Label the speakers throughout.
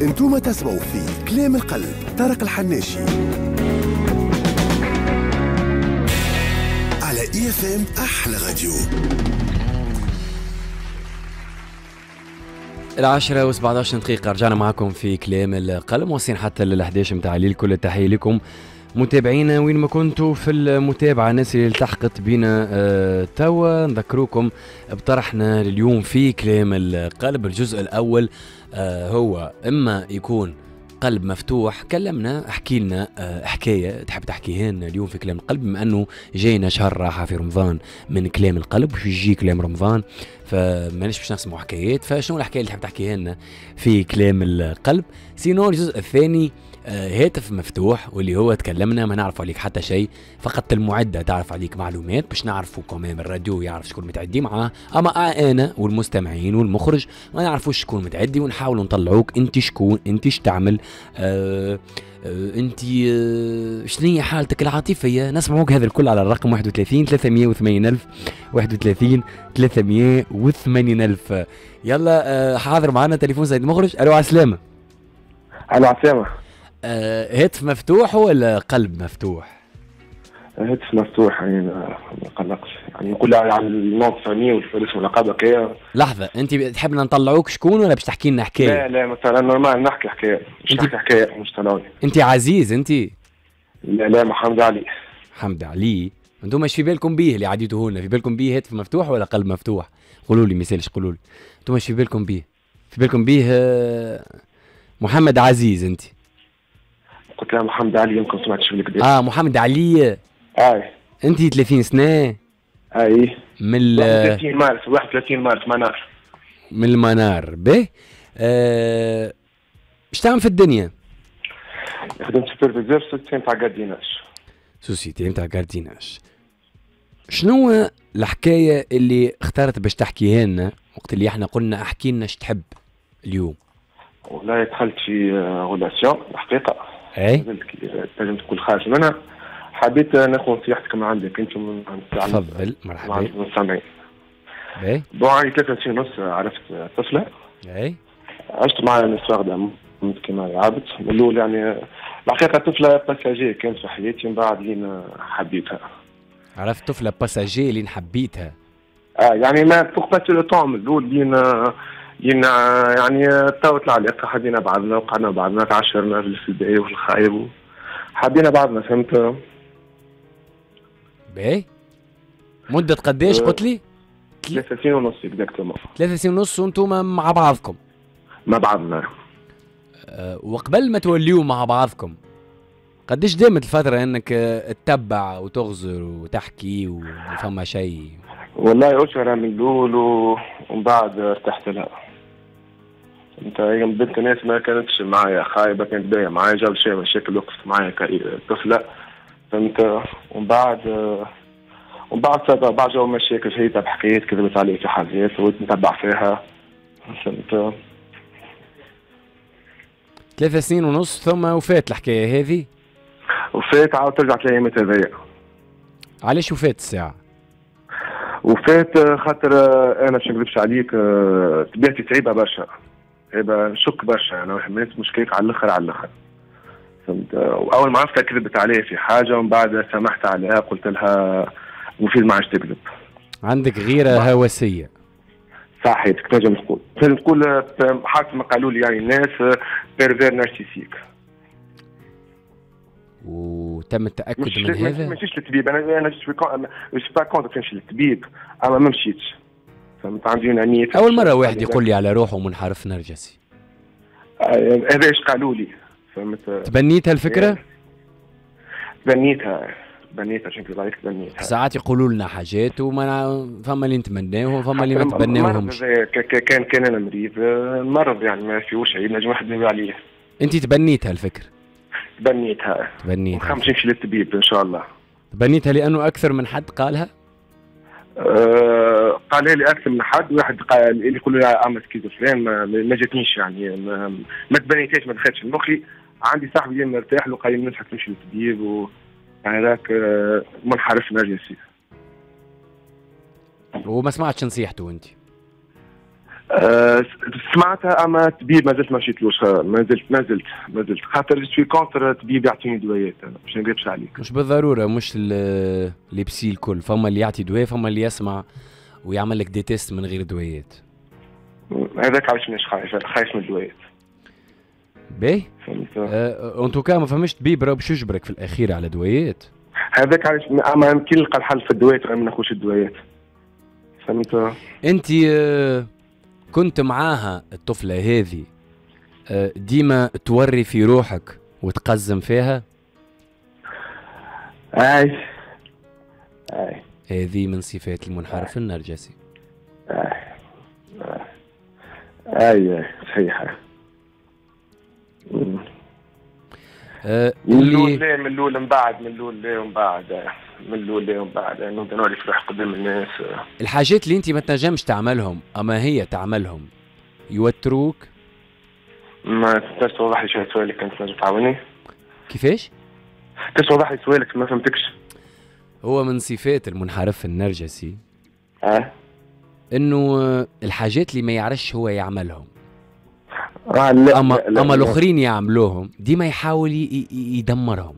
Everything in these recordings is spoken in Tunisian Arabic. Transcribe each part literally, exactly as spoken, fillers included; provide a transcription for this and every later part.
Speaker 1: انتم تسمعوا في كلام القلب، طارق الحناشي على IFM احلى راديو.
Speaker 2: العشرة وسبعة عشر دقيقة رجعنا معكم في كلام القلب، واصلين حتى لل إحدى عشر متاع الليل. كل التحية لكم متابعينا وين ما كنتوا في المتابعة، الناس اللي التحقت بنا آه توا. نذكروكم بطرحنا لليوم في كلام القلب. الجزء الأول آه هو إما يكون قلب مفتوح، كلمنا احكي لنا حكاية تحب تحكيها لنا اليوم في كلام القلب، بما انه جاينا شهر راحة في رمضان من كلام القلب وش يجي كلام رمضان، فمانيش باش نسمعوا حكايات، فشنو الحكاية اللي تحب تحكيها لنا في كلام القلب؟ sinon الجزء الثاني هاتف مفتوح، واللي هو تكلمنا ما نعرف عليك حتى شيء، فقط المعدة تعرف عليك معلومات باش نعرفوا كمان الراديو يعرف شكون متعدي معاه، اما انا والمستمعين والمخرج ما نعرفوش شكون متعدي، ونحاولوا نطلعوك انت شكون، انت اش تعمل، آه آه انت آه شنو هي حالتك العاطفية. نسمعوك هذا الكل على الرقم واحد وثلاثين ثلاثمية وثمانين ألف، واحد وثلاثين ثلاثمية وثمانين ألف. يلا آه حاضر معنا تليفون سيد المخرج. الو عسلامة.
Speaker 3: الو عسلامة.
Speaker 2: آه هاتف مفتوح ولا قلب مفتوح؟
Speaker 3: هاتف مفتوح يعني ما قلقش، يعني نقول على ال nom de famille والاسم واللقب هكايا.
Speaker 2: لحظة، أنت تحبنا نطلعوك شكون ولا باش تحكي لنا حكاية؟
Speaker 3: لا لا مثلا normal نحكي حكاية، مش نحكي حكاية مش طلعوني.
Speaker 2: أنت عزيز أنت؟
Speaker 3: لا لا محمد علي.
Speaker 2: محمد علي، أنتم ايش في بالكم بيه اللي عديتوه لنا؟ في بالكم بيه هاتف مفتوح ولا قلب مفتوح؟ قولوا لي ما يسالش، قولوا لي أنتم ايش في بالكم بيه؟ في بالكم بيه محمد عزيز أنت؟
Speaker 3: قلت لها محمد علي، يمكن سمعتش بالكدا.
Speaker 2: اه محمد علي.
Speaker 3: اي
Speaker 2: انت ثلاثين سنة؟
Speaker 3: اي
Speaker 2: من ال
Speaker 3: واحد وثلاثين مارس، واحد وثلاثين مارس منار.
Speaker 2: من المنار. به اش تعمل في الدنيا؟
Speaker 3: خدمت superviseur société نتاع gardiennage.
Speaker 2: société نتاع gardiennage. شنو الحكاية اللي اخترت باش تحكيها لنا وقت اللي احنا قلنا احكي لنا اش تحب اليوم؟
Speaker 3: والله دخلت في relation الحقيقة.
Speaker 2: اي
Speaker 3: تنجم تقول خارج منها. حبيت ناخذ نصيحتك من عندك انت من عند
Speaker 2: تفضل مرحبا.
Speaker 3: عند المستمعين.
Speaker 2: باهي.
Speaker 3: bon عندي ثلاثة سنين ونص عرفت طفله.
Speaker 2: اي
Speaker 3: عشت معها une histoire d'amour كيما العبد من الاول، يعني الحقيقة طفله passager كانت في حياتي، من بعد لين حبيتها.
Speaker 2: عرفت طفله passager لين حبيتها.
Speaker 3: اه يعني ما pour passer le temps من الاول لين لين يعني طاوت العلاقة، حبينا بعضنا وقعدنا بعضنا، تعشرنا في الباهي وفي الخايب، حبينا بعضنا فهمت.
Speaker 2: باهي مدة قداش قلت لي؟
Speaker 3: ثلاثة سنين ونص exactement.
Speaker 2: ثلاثة سنين ونص وانتم مع بعضكم؟
Speaker 3: مع بعضنا.
Speaker 2: أه وقبل ما توليوا مع بعضكم قداش دامت الفترة انك تتبع وتغزر وتحكي وفما شيء؟
Speaker 3: والله أشهر من الأول ومن بعد ارتحت لها. انت بنت ناس ما كانتش معايا خايبة، كانت باهيه معايا، جاب شوية مشاكل وقفت معايا كطفله فهمت. ومن بعد ومن بعد بعد جاو مشاكل هي بحكايات كذبت علي في حاجات وليت نتبع فيها فهمت.
Speaker 2: ثلاثة سنين ونص ثم وفات الحكاية هذه؟
Speaker 3: وفات، عاود ترجع الايامات هذيا.
Speaker 2: علاش وفات الساعة؟
Speaker 3: وفات خاطر انا باش نكذبش عليك طبيعتي تعيبه برشا، تعيبه نشك برشا، انا واحد من الناس مشكلك على الاخر على الاخر فهمت. واول ما عرفتها كذبت عليه في حاجة ومن بعد سامحت عليها، قلت لها مفيد ما عادش تكذب.
Speaker 2: عندك غيره هوسيه.
Speaker 3: صحيح تنجم تقول، تنجم تقول حسب ما قالوا لي يعني الناس pervers narcissique.
Speaker 2: وتم التاكد من هذا؟
Speaker 3: ما مشيتش للطبيب، انا انا je suis pas contre نمشي للطبيب، اما ما مشيتش فهمت. عندي une amie
Speaker 2: اول مرة واحد يقول لي على روحه منحرف نرجسي.
Speaker 3: هذا ايش قالوا لي فهمت.
Speaker 2: تبنيتها الفكرة؟
Speaker 3: تبنيتها تبنيتها عشان نكذب عليك تبنيتها.
Speaker 2: ساعات يقولوا لنا حاجات وما فما اللي نتمناوه وفما اللي ما تبناوهمش.
Speaker 3: كان كان انا مريض مرض يعني ما فيهوش عيب نجم واحد يدوي عليه.
Speaker 2: انت تبنيتها الفكرة؟
Speaker 3: تبنيتها
Speaker 2: تبنيتها
Speaker 3: نمشي للطبيب ان شاء الله.
Speaker 2: تبنيتها لانه اكثر من حد قالها؟
Speaker 3: أه قالها لي اكثر من حد، واحد قال اللي يقولوا لي اما schizophrène ما, ما جاتنيش يعني ما, ما تبنيتهاش ما دخلتش لمخي. عندي صاحبي مرتاح له قال لي ننصحك تمشي للطبيب و يعني ذاك منحرف نرجسي.
Speaker 2: وما سمعتش نصيحته انت؟
Speaker 3: أه سمعتها اما طبيب ما زلت ما مشيتلوش، ما زلت ما زلت ما زلت خاطر je suis contre طبيب يعطيني دوايات، انا باش نكذبش عليك.
Speaker 2: مش بالضرورة، مش les psys الكل، فما اللي يعطي دواء، فما اللي يسمع ويعمل لك des tests من غير دوايات.
Speaker 3: هذاك علاش مانيش خايف، خايف من الدوايات.
Speaker 2: باهي en tout cas ما فماش طبيب راه باش يجبرك في الاخير على دوايات.
Speaker 3: هذاك علاش اما كي نلقى الحل في الدوايات ما ناخذش الدوايات. فهمت؟
Speaker 2: انت كنت معاها الطفلة هذه ديما توري في روحك وتقزم فيها؟
Speaker 3: اي اي
Speaker 2: هذه من صفات المنحرف النرجسي.
Speaker 3: اي اي صحيحة.
Speaker 2: أه
Speaker 3: من الاول لا، من الاول من بعد، من الاول لا ومن بعد، من الاول لا ومن بعد، يعني نبدا نوري في روحي قدام الناس.
Speaker 2: الحاجات اللي انت ما تنجمش تعملهم اما هي تعملهم يوتروك؟
Speaker 3: ما تقدرش توضح لي شوية سؤالك كانت تنجم تعاوني؟
Speaker 2: كيفاش؟
Speaker 3: تقدر توضح لي سؤالك ما فهمتكش.
Speaker 2: هو من صفات المنحرف النرجسي
Speaker 3: اه
Speaker 2: انه الحاجات اللي ما يعرفش هو يعملهم،
Speaker 3: آه لا
Speaker 2: اما
Speaker 3: لا لا
Speaker 2: اما
Speaker 3: لا.
Speaker 2: الاخرين يعملوهم ديما يحاول يدمرهم.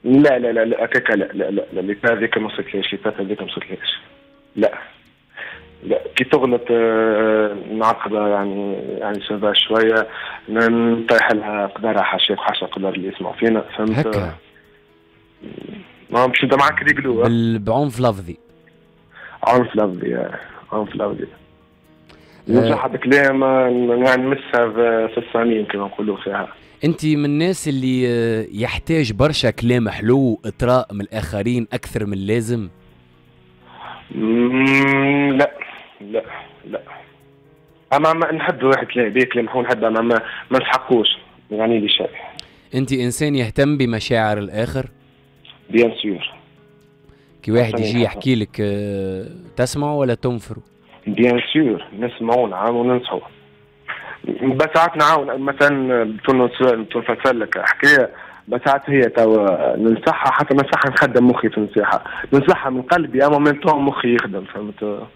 Speaker 3: لا لا لا لا هكاك لا لا لا لا l'étape هذيك ما وصلتليش، l'étape هذيك ما وصلتليش. لا لا كي تغلط آه نعاقبها يعني، يعني ça va شوية نطيح لها قدرها، حاشاك حاشا قدر اللي يسمعوا فينا، فهمت؟
Speaker 2: هكا
Speaker 3: ما باش نبدا معاك réglo
Speaker 2: بعنف لفظي.
Speaker 3: عنف لفظي، عنف لفظي. ننصحها بكلام يعني نمسها في الصميم كما نقولوا فيها.
Speaker 2: انت من الناس اللي يحتاج برشا كلام حلو اطراء من الاخرين اكثر من اللازم؟
Speaker 3: لا لا لا، اما ما نحب واحد كلام بيه كلام حلو نحب، اما ما, ما نسحقوش يعني لي شيء.
Speaker 2: انت انسان يهتم بمشاعر الاخر؟
Speaker 3: bien sûr.
Speaker 2: كي واحد يجي يحكي لك تسمعه ولا تنفره؟
Speaker 3: bien sûr نسمعوا نعاونوا وننصحوا. بس ساعات نعاون مثلا تنفسر لك حكاية، بس ساعات هي توا ننصحها، حتى ننصحها نخدم مخي في النصيحة، ننصحها من قلبي اما من تو مخي يخدم، فهمت؟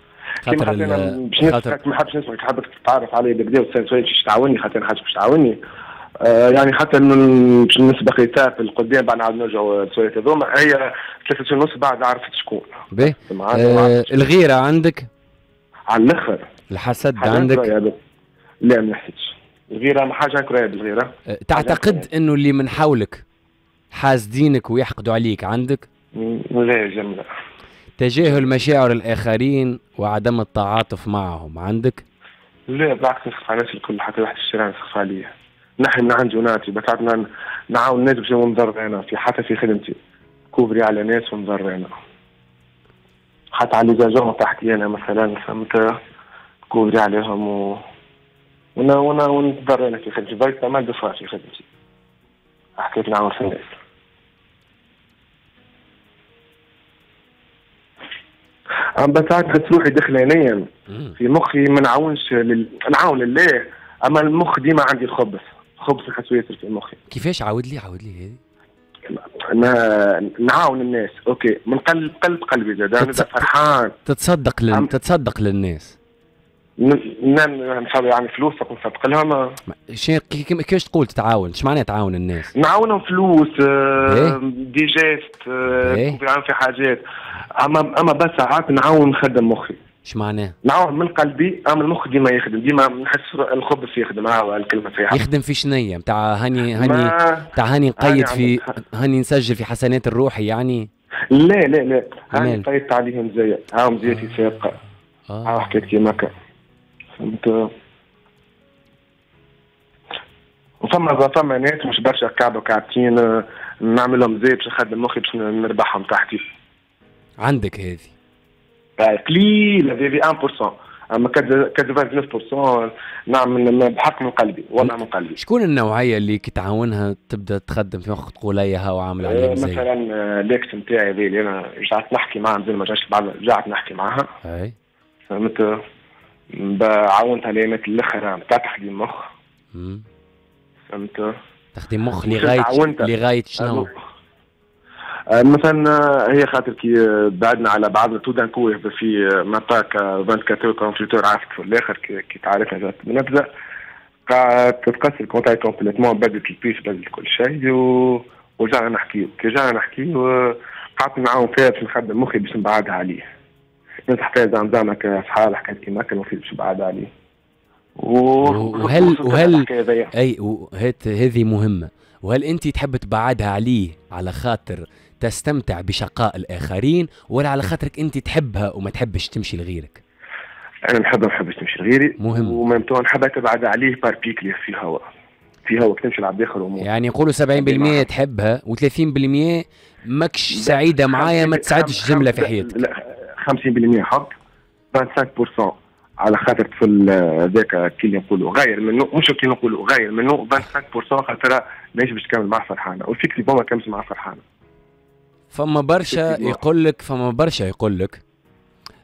Speaker 2: خاطر
Speaker 3: باش نسمعك ما حبش نسمعك، حابك تتعرف علي بالكدا وتسال سؤال باش تعاوني، خاطر انا حاجة باش تعاوني. آه يعني حتى باش نسبق étape القدام بعد نعاود نرجعوا للسؤالات هذوما، هي ثلاثة سنين ونص بعد عرفت شكون.
Speaker 2: باهي آه الغيرة عندك؟
Speaker 3: على الاخر.
Speaker 2: الحسد عندك؟
Speaker 3: لا ما نحسدش. الغيرة ما حاجة نكرهها بالغيره.
Speaker 2: تعتقد انه اللي من حولك حاسدينك ويحقدوا عليك عندك؟
Speaker 3: لا جملة.
Speaker 2: تجاهل مشاعر الاخرين وعدم التعاطف معهم عندك؟
Speaker 3: لا بالعكس، نسخف على الناس الكل، حتى واحد في الشارع نسخف عليه. نحن من عندي ونعطي، بس ساعات نعاون الناس باش نضر انا في حتى في خدمتي كوفري على ناس ونضر انا. حتى على les agents تحتي انا مثلا، فهمت؟ كوفري عليهم و وانا وانا ونتضرر انا في خدمتي، ضيعت pas mal de fois في خدمتي. حكيت نعاون في الناس. اما ساعات نحس روحي داخلانيا في مخي ما نعاونش لل... نعاون لله، اما المخ ديما عندي الخبث، خبث نحسو ياسر في مخي.
Speaker 2: كيفاش؟ عاود لي عاود لي هذه.
Speaker 3: انا نعاون الناس OK من قلب قلب قلبي زاد انا تتص... فرحان.
Speaker 2: تتصدق لل... أم... تتصدق للناس.
Speaker 3: نعم يعني فلوس نصدق لهم.
Speaker 2: شي كيفاش تقول تتعاون؟ اش معناها تعاون الناس؟
Speaker 3: نعاونهم فلوس، des gestes، نعاون في حاجات، اما اما بس ساعات نعاون نخدم مخي.
Speaker 2: اش معناه؟
Speaker 3: نعاون من قلبي، اما المخ ديما يخدم، ديما نحس الخبث يخدم. ها الكلمة صحيحه.
Speaker 2: يخدم في شنية؟ نتاع هاني هاني نتاع هاني نقيد في هاني نسجل في حسنات الروحي يعني؟
Speaker 3: لا لا لا، هاني قيدت عليهم زي هاهم زيتي سابقه. اه حكيت كيما هكا، فهمت؟ وفما فما ناس مش برشا كعبه وكعبتين نعمل لهم زي باش نخدم مخي باش نربحهم تحتي.
Speaker 2: عندك هذه؟
Speaker 3: قليل هذه واحد بالمية، اما تسعة وتسعين بالمية نعمل بحق من قلبي، والله من قلبي.
Speaker 2: شكون النوعية اللي كي تعاونها تبدا تخدم في مخك تقول هيا هاو عامل عليهم زي؟
Speaker 3: مثلا l'ex نتاعي هذه اللي انا رجعت نحكي معاها، مازال ما رجعتش بعد رجعت نحكي معاها.
Speaker 2: اي
Speaker 3: فهمت؟ عاونتها الايامات الاخرى نتاع تخديم مخ. فهمت؟
Speaker 2: تخديم مخ لغاية لغاية شنو؟
Speaker 3: مثلا هي خاطر كي بعدنا على بعضنا tout d'un coup في même pas أربعة وعشرين quarante-huit heures عرفت في الاخر كي تعرفنا جات نبدا تتقص ال contact complètement، بدلت ال puce، بدلت كل شيء و... ورجعنا نحكيو. كي رجعنا نحكيو قعدت نعاون فيها باش نخدم مخي باش نبعدها عليه، ننصح فيها زعما زعما كاصحاب حكاية كيما كان باش نبعدها عليه.
Speaker 2: وهل وهل اي هذه مهمة، وهل انت تحب تبعدها عليه على خاطر تستمتع بشقاء الاخرين ولا على خاطرك انت تحبها وما تحبش تمشي لغيرك؟
Speaker 3: انا نحبها ما نحبش تمشي لغيري.
Speaker 2: مهم.
Speaker 3: و même temps نحبها تبعد عليه par pitié في هوا في هوا تمشي لعبد اخر.
Speaker 2: يعني يقولوا سبعين بالمية تحبها وثلاثين بالمية ماكش سعيدة معايا، ما تسعدش جملة في حياتك.
Speaker 3: لا، خمسين بالمية حب، خمسة وعشرين بالمية على خاطر طفل هذاك كي نقولوا غير منه، مش كي نقولوا غير منه، خمسة وعشرين بالمية خاطر ماهيش باش تكمل معاه فرحانه، و effectivement ما كملش معاه فرحانه.
Speaker 2: فما برشا يقول لك فما برشا يقول لك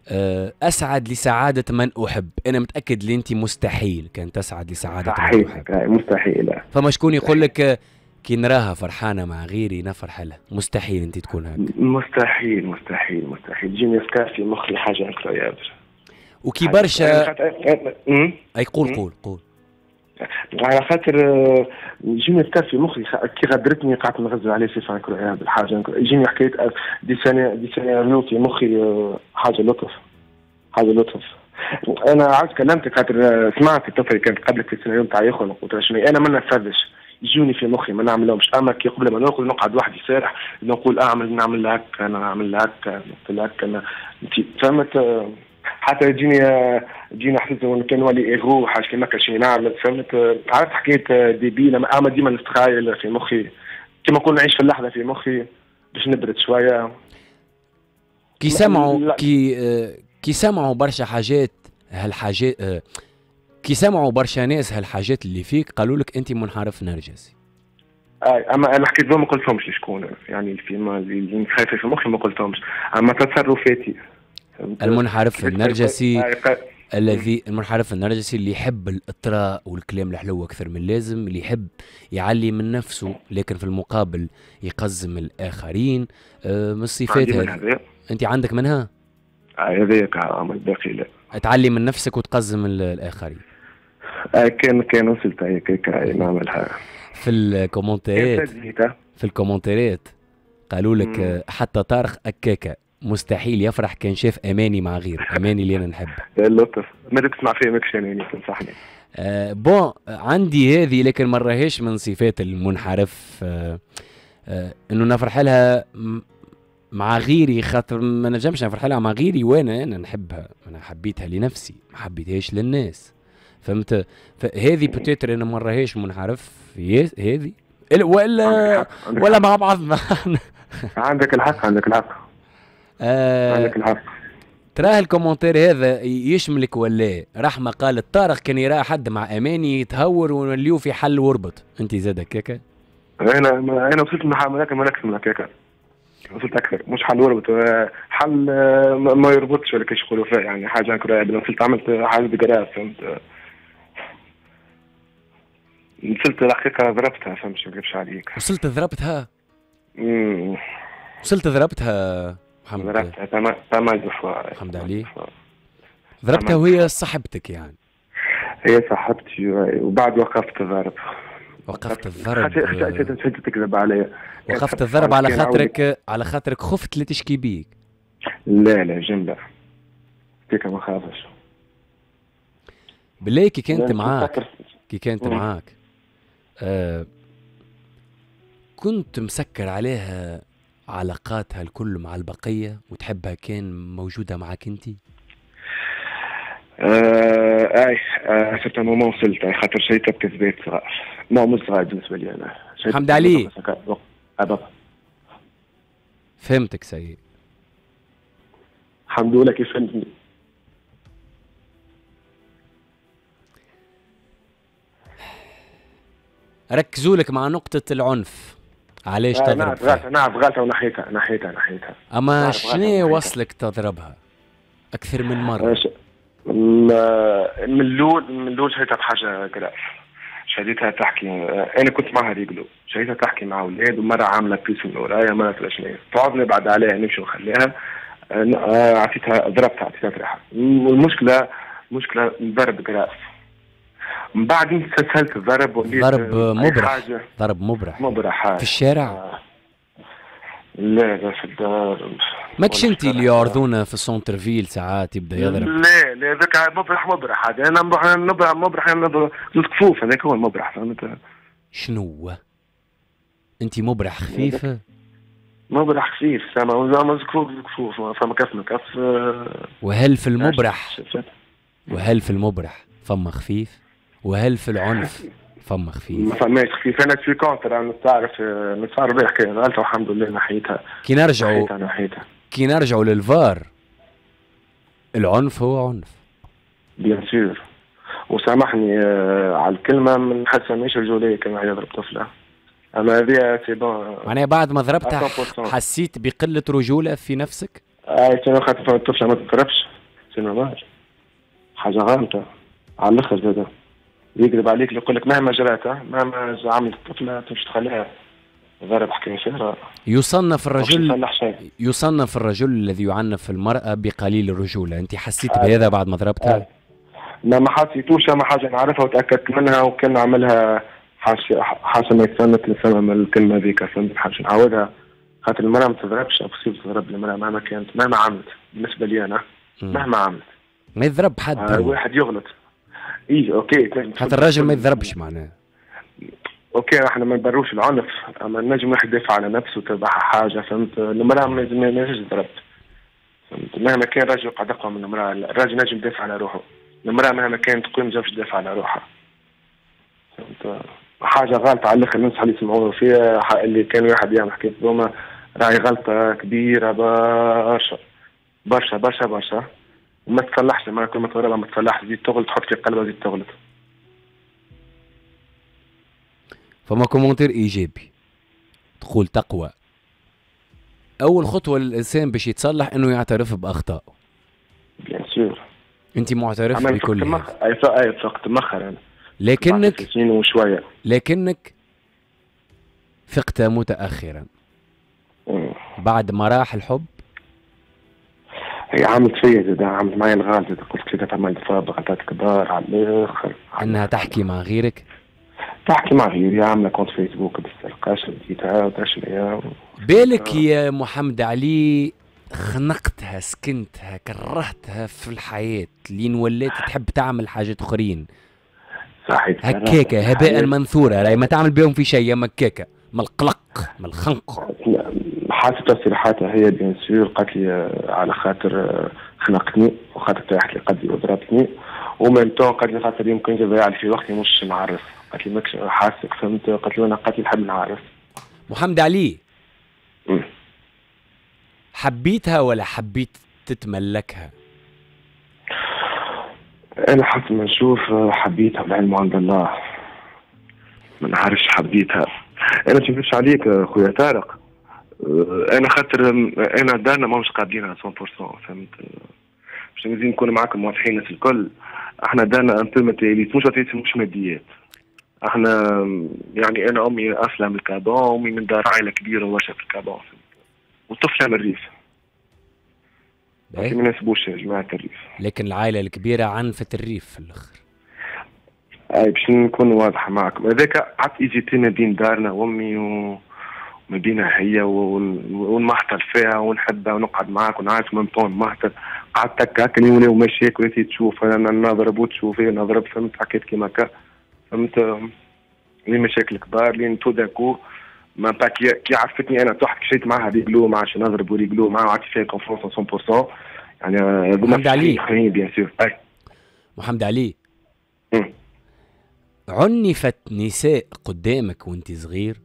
Speaker 2: آه، اسعد لسعادة من احب. انا متاكد اللي انت مستحيل كان تسعد لسعادة من
Speaker 3: احب. مستحيل.
Speaker 2: فما شكون يقول لك كي نراها فرحانة مع غيري نفرح لها. مستحيل انت تكون هكا.
Speaker 3: مستحيل مستحيل مستحيل، تجيني افكار في مخي حاجة incroyable.
Speaker 2: وكي برشا اي قول قول قول.
Speaker 3: على خاطر آه، يجيني افكار في مخي كي غدرتني قعدت نغزل عليه c'est incroyable، حاجة يجيني حكاية des scéna des scénarios في مخي، آه، حاجة لطف حاجة لطف. انا عاود كلمتك خاطر آه، سمعت الطفل اللي كانت قبلك في السيناريو نتاع يخرج، قلت شنو انا ما نفذش، يجوني في مخي ما نعملهمش، اما كي قبل ما نرقد نقعد وحدي سارح نقول اعمل نعمل هكا، انا نعمل هكا، نقول هكا، انا فهمت؟ حتى تجيني تجيني حسيت كان ولي ايغو حاجة كيما هكا شي نعمل، فهمت؟ عرفت حكاية débile، اما ديما نستخايل في مخي كيما نقول نعيش في اللحظة في مخي باش نبرد شويه.
Speaker 2: كي سمعوا كي كي سمعوا برشا حاجات هالحاجات، كي سمعوا برشا ناس هالحاجات اللي فيك قالوا لك انت منحرف نرجسي.
Speaker 3: اي، اما انا حكيت لهم ما قلتهمش شكون، يعني في ما اللي خايفة في مخي ما قلتهمش، اما تصرفاتي.
Speaker 2: المنحرف النرجسي الذي المنحرف النرجسي اللي يحب الاطراء والكلام الحلو اكثر من اللازم، اللي يحب يعلي من نفسه لكن في المقابل يقزم الاخرين، آه، من الصفات هذه انت عندك منها؟
Speaker 3: هذاك الباقي لا.
Speaker 2: تعلي من نفسك وتقزم الاخرين.
Speaker 3: آه، كان كان وصلت هيك نعملها.
Speaker 2: في الكومنتات في الكومنتات قالوا لك حتى طارق اكاكا مستحيل يفرح كان شاف اماني مع غير اماني اللي انا نحب.
Speaker 3: اللطف، ما تسمع فيا ماكش اناني تنصحني.
Speaker 2: آه bon عندي هذه لكن ما راهيش من صفات المنحرف، آه آه انه نفرح لها مع غيري، خاطر ما نجمش نفرح لها مع غيري وانا انا نحبها، انا حبيتها لنفسي ما حبيتهاش للناس، فهمت؟ فهذه peut-être انا ما راهيش منحرف هذه ولا ولا مع بعضنا.
Speaker 3: عندك الحق، عندك الحق.
Speaker 2: آه
Speaker 3: عندك الحق.
Speaker 2: تراه ال commentaire هذا يشملك ولا؟ رحمة قالت طارق كان يرى حد مع اماني يتهور ونوليو في حل وربط، انت زاد هكاكا؟
Speaker 3: انا انا وصلت لمرحلة ما اكثر من هكاكا، وصلت اكثر، مش حل وربط، حل ما يربطش ولا كيش يقولوا فيه، يعني حاجة incroyable. وصلت عملت حاجة grave، فهمت؟ وصلت الحقيقة ضربتها، فهمت؟ ما نكذبش عليك.
Speaker 2: وصلت ضربتها؟
Speaker 3: امم
Speaker 2: وصلت ضربتها محمد؟
Speaker 3: ضربتها pas mal de fois.
Speaker 2: محمد علي ضربتها وهي صاحبتك يعني؟
Speaker 3: هي صاحبتي وبعد وقفت الضرب.
Speaker 2: وقفت الضرب.
Speaker 3: خشيت تكذب علي.
Speaker 2: وقفت الضرب على خاطرك على خاطرك خفت لا تشكي بيك؟
Speaker 3: لا لا، جملة هيك ما خافش.
Speaker 2: بالله كي كانت معاك كي كانت معاك آه كنت مسكر عليها علاقاتها الكل مع البقية وتحبها كان موجودة معك انت؟
Speaker 3: آه اي آه certain moment وصلت خاطر شيء بكذبات صغار، ما مش صغار بالنسبة لي انا.
Speaker 2: حمد علي.
Speaker 3: آه
Speaker 2: فهمتك سيد.
Speaker 3: الحمد لله كيف فهمتني.
Speaker 2: ركزوا لك مع نقطة العنف، علاش آه تضرب؟
Speaker 3: نعرف غلطة، نعرف غلطة ونحيتها نحيتها نحيتها.
Speaker 2: أما شنو وصلك تضربها أكثر من مرة؟
Speaker 3: من الأول من الأول شريتها بحاجة grave، شديتها تحكي، انا كنت معها réglo، شديتها تحكي مع اولاد، ومرة عامله puce من ورايا، مرة شنو، تعوضني بعد عليها نمشي ونخليها. عطيتها ضربتها، عطيتها ريحه. والمشكلة مشكلة ضرب grave. من بعد استسهلت الضرب وليت
Speaker 2: ضرب مبرح. ضرب مبرح
Speaker 3: مبرح
Speaker 2: في الشارع؟ آه.
Speaker 3: لا لا في الدار.
Speaker 2: ماكش انت اللي يعرضونا في ال centre-ville ساعات يبدا يضرب؟
Speaker 3: لا لا ذاك مبرح مبرح هذا، انا مبرح مبرح مبرح كفوف، هذاك هو المبرح فهمت؟
Speaker 2: شنو؟ انت مبرح خفيف؟
Speaker 3: مبرح خفيف زعما كفوف كفوف فما كف كف.
Speaker 2: وهل في المبرح وهل في المبرح فما خفيف؟ وهل في العنف فما خفيف؟
Speaker 3: ما فماش خفيف. انا في contre، انا نتعرف نتعرف بها حكاية غلطه والحمد لله نحيتها.
Speaker 2: كي نرجعوا نحيتها كي نرجعوا للفار، العنف هو عنف.
Speaker 3: bien sûr. وسامحني على الكلمة، ما نحسها ماهيش رجوليه كان يضرب طفله. اما هذه c'est bon.
Speaker 2: معناها بعد ما ضربتها حسيت بقلة رجوله في نفسك؟
Speaker 3: اي خاطر الطفلة ما تضربش، c'est normal، حاجة غلطه على الاخر زاده. يكذب عليك اللي يقول لك مهما جرات مهما عملت الطفلة تمشي تخليها ضرب حكاية فارغة.
Speaker 2: يصنف الرجل يصنف الرجل الذي يعنف المراة بقليل الرجولة، انت حسيت آه. بهذا بعد ما ضربتها؟
Speaker 3: آه. ما ما حسيتوش، اما حاجة نعرفها وتاكدت منها، وكان عملها حاشا حاشا ما يتسمت لسما الكلمة ذيك، فهمت؟ حاجة نعاودها خاطر المراة ما تضربش، impossible تضرب المراة مهما كانت مهما عملت. بالنسبة لي انا مهما عملت
Speaker 2: ما يضرب حد.
Speaker 3: آه واحد يغلط اي OK،
Speaker 2: حتى الراجل ما يضربش معناه.
Speaker 3: OK احنا ما نبروش العنف، اما نجم واحد يدافع على نفسه تبعها حاجة فهمت. المراة ما لازمش تضرب فهمت، مهما كان الراجل قاعد اقوى من المراة، الراجل نجم يدافع على روحه، المراة مهما كانت تقوم ما تدافع على روحها فهمت. حاجة غلطه على الاخر، ننصح اللي يسمعوا فيها اللي كان واحد يعمل حكاية ذوما، راهي غلطه كبيرة برشا برشا برشا برشا، وما تصلحش. المرأة كل ما تضربها ما تصلحش، زيد تغلط، تحط في قلبها زيد تغلط.
Speaker 2: فما commentaire ايجابي تقول تقوى. اول خطوة للانسان باش يتصلح انه يعترف باخطائه.
Speaker 3: bien sûr.
Speaker 2: انت معترف بكل هذا.
Speaker 3: اي اي فقت مخر انا.
Speaker 2: لكنك
Speaker 3: وشوية.
Speaker 2: لكنك فقت متاخرا.
Speaker 3: مم.
Speaker 2: بعد ما راح الحب.
Speaker 3: هي عملت فيا زاد، عملت معايا الغلط زاد، قلت كده عملت فيها غلطات كبار على الاخر.
Speaker 2: انها تحكي مع غيرك؟
Speaker 3: تحكي مع غيري، عامله compte فيسبوك بالسرقة، شديتها وتشريها.
Speaker 2: بالك يا محمد علي خنقتها، سكنتها، كرهتها في الحياة لين ولات تحب تعمل حاجات اخرين.
Speaker 3: صحيح.
Speaker 2: هكاكا هباء منثورا، راهي ما تعمل بهم في شيء، يا مكاكا من القلق من الخنق.
Speaker 3: حاسب تصريحاتها هي bien sûr، قالت لي على خاطر خنقتني وخاطر طيحت لي قدي وضربتني، و même temps قالت لي خاطر يمكن تضيع لي في وقتي مش نعرس، قالت لي ماكش حاسك فهمت، قالت لي انا قالت لي نحب نعرس.
Speaker 2: محمد علي
Speaker 3: م.
Speaker 2: حبيتها ولا حبيت تتملكها؟
Speaker 3: انا حسب ما نشوف حبيتها، والعلم عند الله. ما نعرفش حبيتها. انا ما نكذبش عليك خويا طارق، انا خاطر انا دارنا ماهمش قابلينها مية بالمية فهمت، باش نزيد نكون معاكم واضحين الناس الكل. احنا دارنا un peu matérialiste، مش matérialiste مش ماديات. احنا يعني انا امي اصلا من الكابون، امي من دار عائلة كبيرة وبرشا في الكابون، وطفله من الريف. ما يناسبوش جماعة الريف.
Speaker 2: لكن العائلة الكبيرة عنفت الريف في الاخر.
Speaker 3: اي باش نكون واضحة معكم، هذاك قعدت hésiter ما بين دارنا وامي و ما بينها هي ونمحتل فيها ونحبها ونقعد معاك ونعرف même temps نمحتل. قعدت هكا هكا ولاو مشاكل وانت تشوف انا نضرب وتشوف هي نضرب فهمت، حكيت كيما هكا فهمت، لي مشاكل كبار لين tout d'un coup ما با كي عرفتني انا طحت مشيت معاها réglo ما عادش نضرب و réglo معاها وعطيت فيها confiance مية بالمية. يعني
Speaker 2: محمد علي
Speaker 3: bien sûr.
Speaker 2: محمد علي عنفت نساء قدامك وانت صغير؟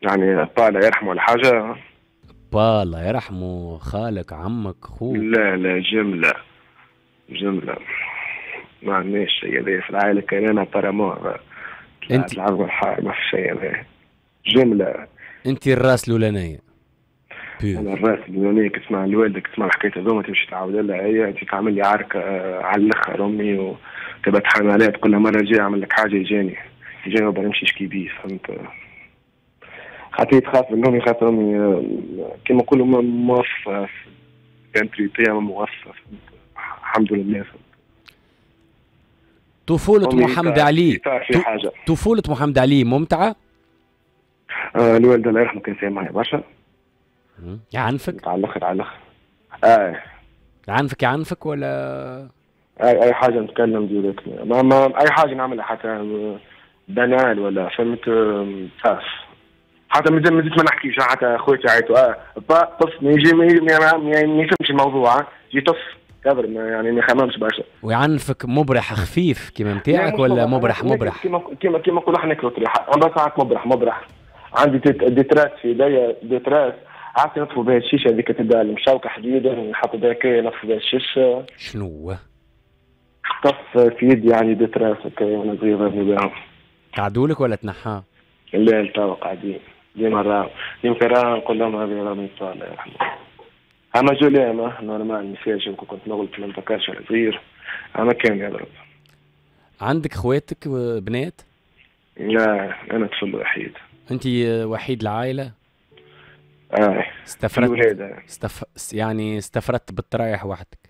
Speaker 3: يعني با الله يرحمه ولا حاجة؟
Speaker 2: با الله يرحمه، خالك، عمك، خوك؟
Speaker 3: لا لا جملة جملة ما عندناش شيء هذا في العائلة، كان أنا apparemment
Speaker 2: أنت
Speaker 3: العظم الحار ما في شيء هذا جملة.
Speaker 2: أنت الراس الأولانية.
Speaker 3: أنا الراس الأولانية، كي تسمع الوالدة كي تسمع الحكاية هذوما تمشي تعاود لها هي، أنت تعمل لي عركة على الآخر أمي و... تبقى تحامي عليها تقول لها مرة الجاية اعمل لك حاجة يجاني يجاني وبا نمشي نشكي بيه فهمت. خاطر تخاف من امي خاطر امي كيما نقولوا موفقة كانت موفقة الحمد لله.
Speaker 2: طفولة محمد علي طفولة محمد علي ممتعة؟
Speaker 3: آه الوالد الله يرحمه كان سايق معايا برشا.
Speaker 2: يعنفك؟
Speaker 3: على الاخر على الاخر. اه
Speaker 2: يعنفك يعنفك ولا؟
Speaker 3: اي اي حاجة نتكلم direct ما, ما اي حاجة نعملها حتى banale ولا فهمت تخاف حتى مازال مازلت ما نحكيش حتى خواتي عيطوا اه با طف ما يجي ما يفهمش الموضوع يجي طف كبر يعني ما يخممش برشا.
Speaker 2: ويعنفك مبرح خفيف كيما نتاعك ولا مبرح مبرح؟
Speaker 3: كيما كيما كيما نقولوا احنا ناكلوا طريحه عندها ساعات مبرح مبرح عندي des traces في يديا des traces عرفت نطفوا بها الشيشة هذيك تبدا المشوكه حديده نحطوا بها كي نطفوا بها الشيشة.
Speaker 2: شنو؟
Speaker 3: طف في يدي يعني des traces هكا وانا صغير ضربني بها.
Speaker 2: قعدوا لك ولا تنحى؟
Speaker 3: لا توا قاعدين ديما راهو يمكن راه نقول لهم هذه راه الله يرحمه. اما جولي normal message يمكن كنت نغلط ما نتذكرش ولا صغير اما كان يضرب.
Speaker 2: عندك خواتك بنات؟
Speaker 3: لا انا طفل وحيد.
Speaker 2: انت وحيد العائلة؟
Speaker 3: اه
Speaker 2: استفردت استف... يعني استفردت بالطرايح وحدك؟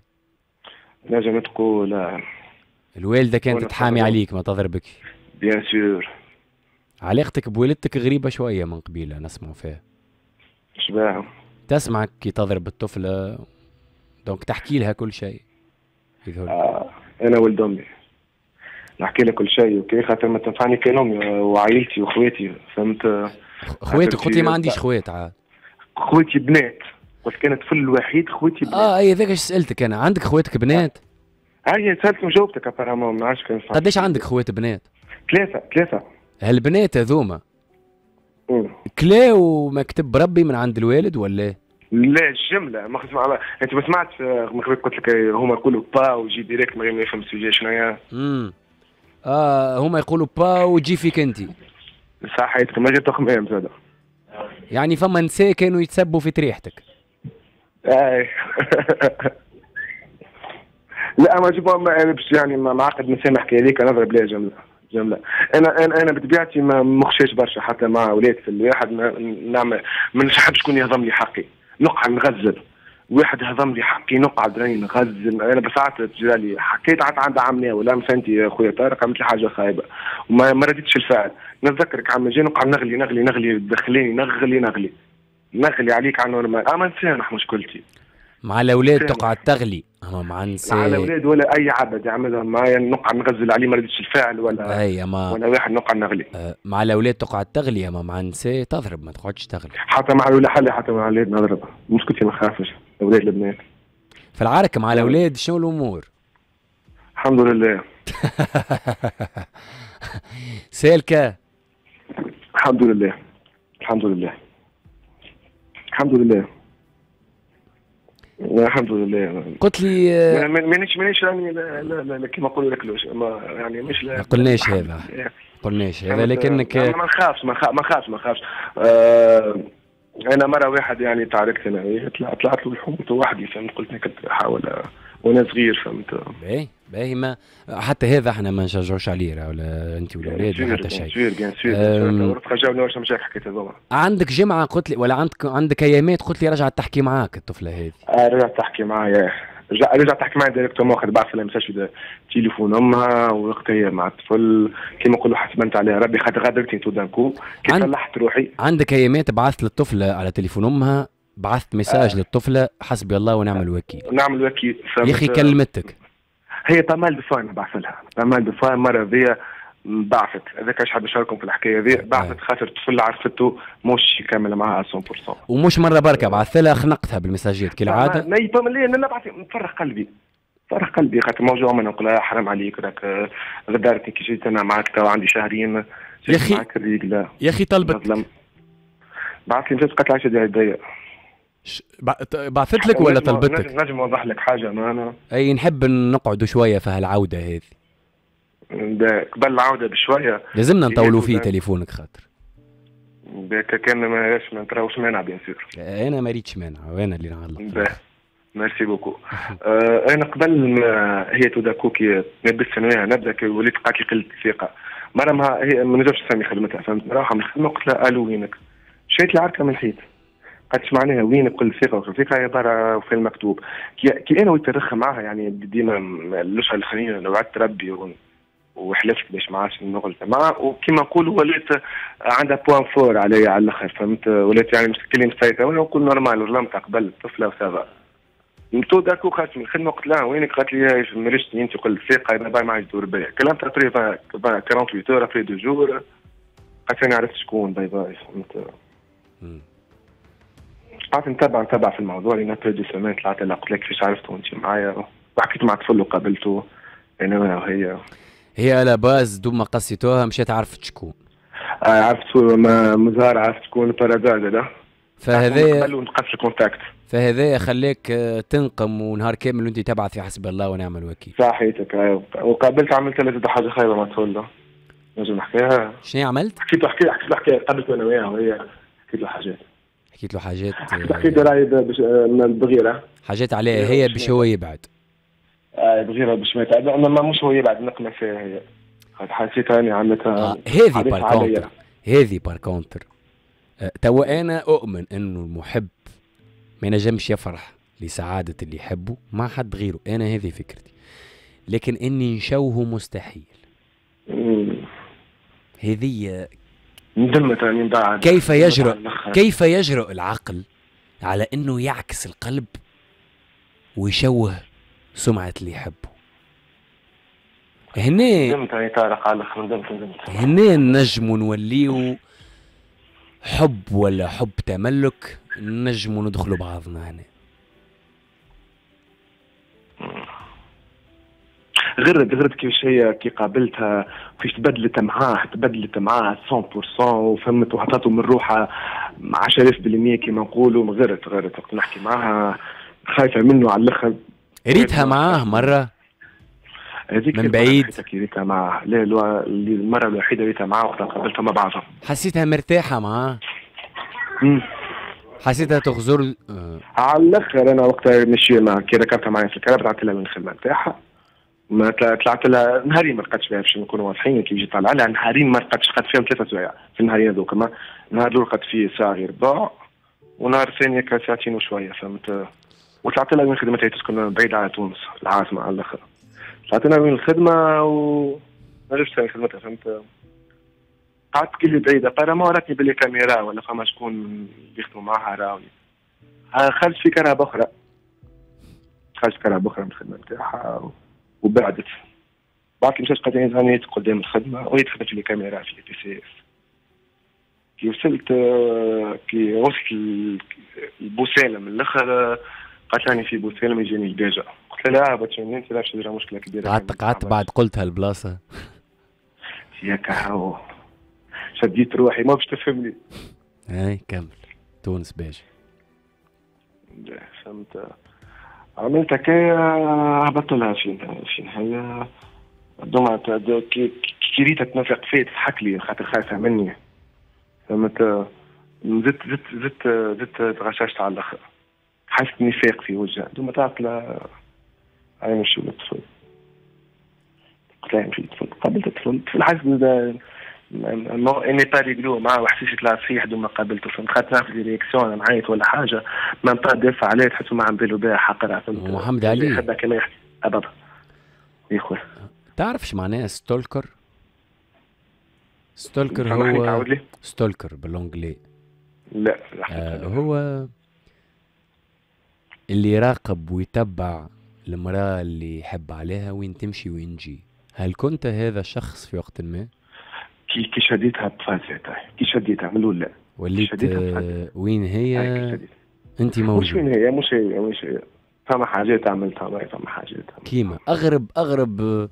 Speaker 3: نجم تقول آه.
Speaker 2: الوالدة كانت تحامي عليك ما تضربك؟
Speaker 3: bien sûr.
Speaker 2: علاقتك بوالدتك غريبة شوية من قبيلة نسمعوا فيها.
Speaker 3: شباها؟
Speaker 2: تسمعك كي تضرب الطفلة donc تحكي لها كل شيء.
Speaker 3: آه أنا ولد أمي نحكي لها كل شيء okay خاطر ما تنفعني كان أمي وعائلتي وخواتي فهمت.
Speaker 2: خواتك قلت لي ما عنديش خوات عاد.
Speaker 3: خواتي بنات قلت كان الطفل الوحيد خواتي بنات.
Speaker 2: اه اي هذاك اش سألتك أنا عندك خواتك بنات؟
Speaker 3: هاي سألتك وجاوبتك apparemment ما نعرفش كان.
Speaker 2: قداش عندك خوات بنات؟
Speaker 3: ثلاثة ثلاثة.
Speaker 2: هالبنات هذوما كلاو ما كتب ربي من عند الوالد ولا؟
Speaker 3: لا الجملة ما خص انت ما سمعتش من قبل قلت لك هما يقولوا با ويجي direct ما يفهم ال sujet شنو هي.
Speaker 2: امم اه هما يقولوا با وتجي فيك انت.
Speaker 3: صحيتك ما جات تخمام زاد.
Speaker 2: يعني فما نساء كانوا يتسبوا في تريحتك.
Speaker 3: اي لا ما جيبوا باش يعني معقد نسامح حكاية هذيك نضرب لها جملة. جملة انا انا انا بطبيعتي ما مخشاش برشا حتى مع اولاد في الواحد ما نعمل ما نحبش شكون يهضم لي حقي نقعد نغزل واحد هضم لي حقي نقعد راني نغزل انا بساعات تجرى لي حكيت عاد عند عمنا ولا مثلا انت يا خويا طارق عملت لي حاجة خايبة وما ما رديتش الفعل نتذكرك عم جاي نقعد نغلي نغلي نغلي دخليني نغلي نغلي نغلي عليك على normal اما نسامح مشكلتي
Speaker 2: مع الاولاد تقعد تغلي اما مع النساء
Speaker 3: مع الاولاد ولا اي عبد يعملها معايا نقعد نغزل عليه ما رديتش الفعل ولا
Speaker 2: اي اما
Speaker 3: ولا واحد نقعد نغلي
Speaker 2: أه مع الاولاد تقعد تغلي اما مع النساء تضرب ما تقعدش تغلي
Speaker 3: حتى مع الاولاد حلي حتى مع الاولاد نضرب مشكلتي ما نخافش الاولاد البنات
Speaker 2: في العركه مع الاولاد شنو الامور؟
Speaker 3: الحمد لله.
Speaker 2: سالكة
Speaker 3: الحمد لله الحمد لله الحمد لله الحمد لله.
Speaker 2: قلت لي
Speaker 3: مانيش مانيش راني لا لا لا كيما نقولوا لك ما يعني مش
Speaker 2: ما قلناش هذا قلناش هذا لكنك
Speaker 3: ما نخافش ما نخافش ما نخافش. آه انا مرة واحد يعني تعاركت انا طلعت له الحوت وحدي فهمت قلت كنت احاول وانا صغير فهمت.
Speaker 2: باهي باهي ما حتى هذا احنا ما نشجعوش عليه ولا انت ولا الاولاد ولا حتى شيء.
Speaker 3: bien sûr bien sûr حكيت هذوما.
Speaker 2: عندك جمعه قلت لي ولا عندك عندك ايامات قلت لي رجعت تحكي معاك الطفلة هذه.
Speaker 3: آه رجعت تحكي معايا رجعت تحكي معايا directement خاطر بعث لها message في تليفون امها وقتها هي مع الطفل كيما نقولوا حسبنت عليها ربي خاطر غادرتني tout d'un coup كي صلحت روحي.
Speaker 2: عندك ايامات بعثت للطفله على تليفون امها بعثت message آه. للطفله حسبي الله ونعم الوكيل.
Speaker 3: نعم الوكيل.
Speaker 2: يا اخي كلمتك
Speaker 3: هي pas mal de fois انا بعث لها pas mal de fois مرة ذي بعثت هذاك اش حاب نشارككم في الحكاية ذي بعثت خاطر الطفل عرفته مش كامل معاها مية بالمية
Speaker 2: ومش مرة بركة بعثت لها خنقتها بالمساجات كالعادة.
Speaker 3: ما ما نبعث نفرغ قلبي نفرغ قلبي خاطر موجوع من نقول لها حرام عليك راك غدرتني كي جيت انا معاك تو عندي شهرين
Speaker 2: يا اخي
Speaker 3: معاك الرجله
Speaker 2: يا اخي طلبت
Speaker 3: بعثت لي message قالت لي عايشه ديال
Speaker 2: بعثت لك ولا طلبتك؟
Speaker 3: نجم نوضح لك حاجة ما انا
Speaker 2: اي نحب نقعدوا شوية في هالعوده هذه.
Speaker 3: قبل العودة بشوية
Speaker 2: لازمنا نطولوا فيه تليفونك خاطر
Speaker 3: كان ما ما تراوش مانع bien sûr.
Speaker 2: انا ما ريتش مانع وانا اللي نعلق.
Speaker 3: merci beaucoup. آه انا قبل ما هي tout d'un coup كي نبدأ انا نبدا كي وليت قالت لي قلة الثقة، مرة ما هي ما نجمش تسمي خدمتها، فهمت؟ نروح من الخدمة قلت لها الو وينك؟ شريت العركه من الحيط. قالت معناها وينك قلة الثقة وقلة الثقة هي برا في المكتوب. كي, كي انا وليت نرخ معاها يعني ديما الاشهر الاخرين وعدت ربي وحلفت باش ما عادش نغلط معاها، وكيما نقولوا وليت عندها point fort عليا على الاخر، فهمت؟ وليت يعني مش كلمة مسيطرة، وانا نقول normal ظلمت قبل الطفلة و ça va. tout d'un coup خرجت من الخدمة قلت لها وينك؟ قالت لي مرشتني انت قلت الثقة باي ما عادش تدور بيا. كلمتها après ثمانية وأربعين heures après deux jours قالت انا عرفت شكون باي باي، فهمت؟ قعدت نتبع نتبع في الموضوع لين après deux semaines طلعت لها قلت لها كيفاش عرفت وانت معايا، وحكيت مع طفل وقابلته انا وهي.
Speaker 2: هي à la base دوب ما قصيتوها مشيت عرفت شكون.
Speaker 3: آه عرفت مزار، عرفت شكون par hasard.
Speaker 2: فهذا
Speaker 3: نقص ال contact.
Speaker 2: فهذا خليك تنقم ونهار كامل وانت تبعث في حسب الله ونعم الوكيل.
Speaker 3: صحيتك. وقابلت عملت لها حاجة خايبة ما تقول نجم نحكيها.
Speaker 2: شنو عملت؟
Speaker 3: حكيت له حكيت حكيت له حكاية قابلت انا وياها وهي حكيت له حاجات.
Speaker 2: حكيت له حاجات.
Speaker 3: حكيت له راهي بغيره.
Speaker 2: حاجات عليها هي باش هو يبعد.
Speaker 3: آه بغيره باش ما يتعب، ما مش هو يبعد نقمه فيها هي. حسيت اني عملتها.
Speaker 2: آه هذه par contre، هذه par contre توا انا اؤمن انه المحب ما ينجمش يفرح لسعادة اللي يحبه مع حد غيره، انا هذه فكرتي، لكن اني نشوهه مستحيل. هذه
Speaker 3: ندمت من بعد.
Speaker 2: كيف يجرؤ كيف يجرؤ العقل على انه يعكس القلب ويشوه سمعة اللي يحبه؟ هنا
Speaker 3: ندمت يا طارق على الاخر، ندمت ندمت.
Speaker 2: هنا نجمو نوليو حب ولا حب تملك، نجمو ندخلوا بعضنا هنا.
Speaker 3: غرد غرد كيفاش هي كي قابلتها كيفاش تبدلت معاه، تبدلت معاه مية بالمية وفهمت وحطته من روحها عشرة آلاف بالمية كيما نقولوا. غرت غرت وقت نحكي معاها خايفة منه على الاخر.
Speaker 2: ريتها معاه مرة
Speaker 3: هذيك
Speaker 2: من بعيد؟
Speaker 3: ريتها معاه، لا المرة الوحيدة ريتها معاه وقت قابلتها مع بعضها.
Speaker 2: حسيتها مرتاحة معاه؟
Speaker 3: امم
Speaker 2: حسيتها تغزر آه.
Speaker 3: على الاخر. انا وقتها مشي مع كي ركبتها معايا في الكرهبة طلعت لها من الخدمة نتاعها، ما طلعت لها نهارين ما رقدتش بها باش نكونوا واضحين. كي جيت طالعه لها نهارين ما رقدتش، رقدت فيهم ثلاثة سوايع في النهارين هذوك. النهار الاول رقدت فيه ساعة غير ربع، ونهار الثاني ساعتين وشوية، فهمت؟ وطلعت لها وين خدمتها، تسكن بعيد على تونس العاصمة على الاخر. طلعت لها وين الخدمة و ما عرفتش وين خدمتها، فهمت؟ قعدت كلي بعيدة apparemment راتني ب les caméras ولا فما شكون يخدموا معاها راوني. خرجت في كرهبة أخرى، خرجت في كرهبة أخرى من الخدمة نتاعها وبعدت. بعد مشات قالت لي راني قدام الخدمة وهي تخدم في les caméras في les T C. كي وصلت كي وصلت البوسالم الاخر قالت لي في بوسالم يجيني الباجة. قلت لها لا باش انت لا باش ندير مشكلة كبيرة.
Speaker 2: قعدت قعدت بعد قلتها البلاصة
Speaker 3: ياك هاو شديت روحي ما باش تفهمني.
Speaker 2: اي كمل تونس باجة.
Speaker 3: فهمت. عملت هكايا هبطت لها فين فين هي دوما كي ريتها تنافق فيا تضحك لي خاطر خايفة مني، فهمت؟ زدت زدت زدت زدت تغششت على الاخر، حسيت نفاق في وجهها. دوما طلعت لها هاي نمشيو للطفل، قلت لها نمشي للطفل. قابلت الطفل، الطفل حاسس اني با ريغلو معاه وحسيت طلع صحيح دوما قابلته، فهمت؟ خاطر نعرف les réactions انا معيط ولا حاجة ما نبقى دافع عليه، تحسه ما عم بالو بها حقرها، فهمت؟
Speaker 2: محمد علي
Speaker 3: يحبها كما يحكي ابدا يا خويا.
Speaker 2: تعرف اش معناها stalker؟ stalker هو stalker بال anglais.
Speaker 3: لا
Speaker 2: آه هو اللي يراقب ويتبع المرأة اللي يحب عليها وين تمشي وين تجي. هل كنت هذا الشخص في وقت ما؟
Speaker 3: كي كي شديتها بفازتها، كي شديتها من الاول لا
Speaker 2: وليت آه وين هي انت موجود؟
Speaker 3: مش وين هي، مش هي مش هي فما حاجات عملتها، ما فما حاجات
Speaker 2: كيما اغرب اغرب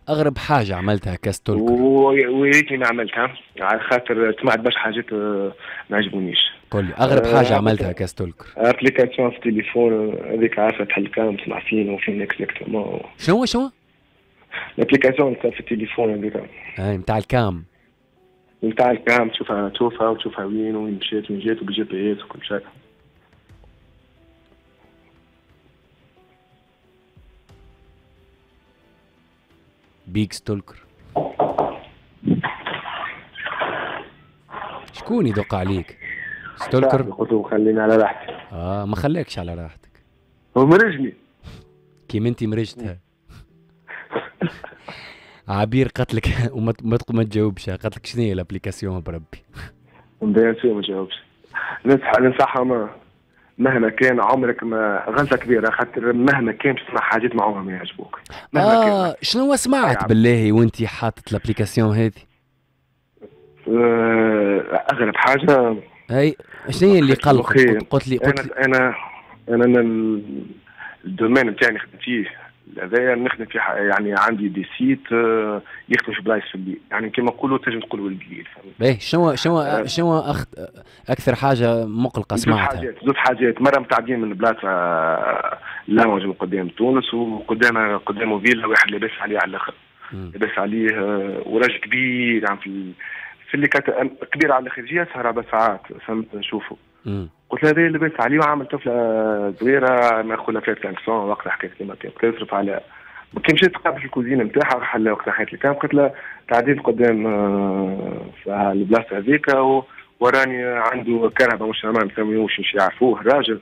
Speaker 2: اغرب حاجة عملتها ك stalker.
Speaker 3: ويا ريتني ما عملتها على خاطر سمعت برشا حاجات ما عجبونيش.
Speaker 2: قول لي اغرب حاجة عملتها ك stalker.
Speaker 3: application في التليفون هذيك عارفه تحل cam تسمع فين وفين exactement.
Speaker 2: شنو شنو؟
Speaker 3: ال application في التليفون هذيك
Speaker 2: اي نتاع ال cam،
Speaker 3: نتاع ال cam تشوفها تشوفها وتشوفها وين وين مشات وين جات وبال GPS وكل شيء.
Speaker 2: بيك stalker. شكون يدق عليك؟ stalker؟
Speaker 3: قلت له خليني على راحتي.
Speaker 2: اه ما خلاكش على راحتك.
Speaker 3: هو مرجني.
Speaker 2: كيما انت مرجتها. عبير قتلك وما ما تجاوبش، قتلك شنو هي l'application بربي؟
Speaker 3: bien sûr ما تجاوبش. ننصح ننصحها ما مهما كان عمرك ما غلطه كبيرة، خاطر مهما كان تسمع حاجات ما عمرهم ما يعجبوك.
Speaker 2: مهما آه كان. شنو سمعت بالله وانت حاطط l'application هذه؟
Speaker 3: آه اغرب حاجة
Speaker 2: اي شنو هي اللي قلقك؟ قلت لي قلت
Speaker 3: انا انا انا, أنا ال domaine نتاعي نخدم فيه هذايا، نخدم في يعني عندي des sites يخدم في بلايص في الليل، يعني كما نقولوا تنجم تقول ولد الليل.
Speaker 2: باهي شنو شنو شنو أخت... اكثر حاجة مقلقة سمعتها؟
Speaker 3: زوج حاجات زوج حاجات، مرة متعدين من بلاصة lounge من قدام تونس وقدامها قدامه فيلا، واحد لاباس عليه على الاخر، لاباس عليه وراجل كبير يعني في في اللي كانت كبير على الاخر، جي سهره بساعات فهمت نشوفه. قلت له هذا لاباس عليه وعامل طفله صغيرة ما ياخذ لها خمسمية وقتها حكيت كيما كان يصرف عليها. كي مشيت تقابل الكوزينة نتاعها راح لها وقتها حكيت لك، قلت لها تعديت قدام البلاصة هذيك وراني عنده كرهبه مش ما نسميوش مش يعرفوه الراجل